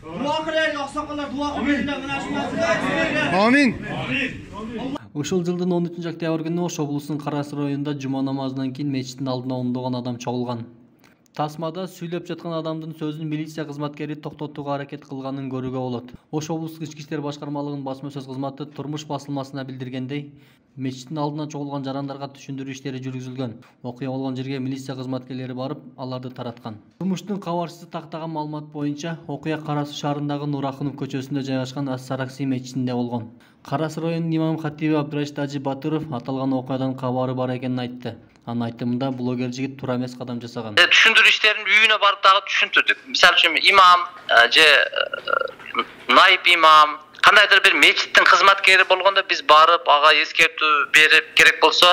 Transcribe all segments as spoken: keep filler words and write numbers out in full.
Дуа кылайлы аксакалдар, дуа кылайлы мына ушул. Амин. Ушул жылдын он үчүнчү октябрь күнү Ош облусунун Карас районунда жума намазынан кийин мечиттин алдына ондогон адам чогулган. Тасмада сүйлөп жаткан адамдын сөзүн милиция кызматкери токтотууга аракет кылганын көрүүгө болот. Ош облустук ички иштер башкармалыгынын басма сөз кызматы Турмуш басылмасына билдиргендей, мечиттин алдына чогулган жарандарга түшүндүрүү иштери жүргүзүлгөн. Окуя болгон жерге милиция кызматкерлери барып, аларды тараткан. Турмуштун кабарчысы тактаган маалымат боюнча, окуя Карас шаарындагы Нурахунов көчөсүндө жайгашкан Ас-Саракси мечитинде болгон. Карас районунун имам хатиби Абдырашид Ажи Батыров аталган окуядан кабары бар экенин айтты. Анын айтымында блогер жигит туура эмес кадам жасаган. Түшүндүрүү иштерин үйүнө барып дагы түшүндүрдүк. Мисалы үчүн имам же найып имам кандайдыр бир мечиттин кызматкери болгондо биз барып ага эскертүү берип, керек болсо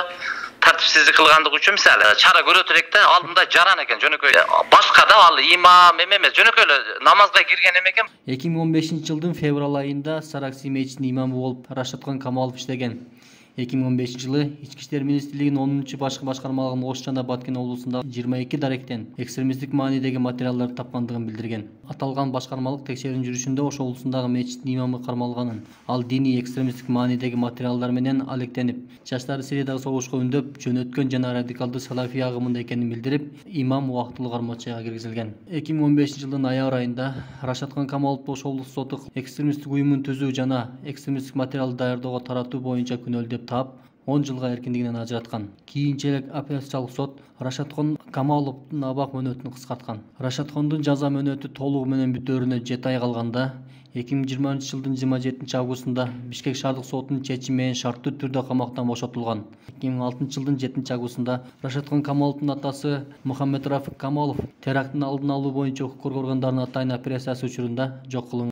тартипсиздик кылгандык үчүн мисалы чара көрө турек да, ал мындай жаран экен жөнөкөй. Башка да ал имам эме эмес, жөнөкөй эле намазга кирген эме экен. эки миң он бешинчи жылдын февраль айында Саракси мечитинин имамы болуп Рашатхан Камалов иштеген. эки миң он бешинчи жылы Ички иштер министрлигинин онунчу башкы башкармалыгынын Ош жана Баткен облусундагы жыйырма эки даректен экстремисттик маанидеги материалдар тапкандыгын билдирген. Аталган башкармалык текшерүүнүн жүрүшүндө Ош облусундагы мечиттин имамы кармалганын, ал диний экстремисттик маанидеги материалдар менен алектенип, жаштарды Сириядагы согушка үндөп, жөнөткөн жана радикалдуу салафий агымында экенин билдирип, имам убактылуу кармоочуга киргизилген. эки миң он бешинчи жылдын ноябрь айында Рашатхан Камаловду Ош облустук соту экстремисттик уюмун түзүү жана экстремисттик материалды даярдоого таратуу боюнча күнөөлдөп таап, он жылга эркиндигинен ажыраткан. Кийинчерээк апелляциялык сот Рашатхан Камаловдун абак мөөнөтүн кыскарткан. Рашатхандын жаза мөөнөтү толугу менен бүтөөрүнө жети ай калганда, эки миң жыйырманчы жылдын жыйырма жетинчи августунда Бишкек шаардык сотунун чечими менен шарттуу түрдө камактан бошотулган. эки миң алтынчы жылдын жетинчи августунда Рашатхан Камаловдун атасы Мухаммед Рафик Камалов теракттын алдын алуу боюнча укук коргоо органдарынын атайын операциясы учурунда жок кылынган.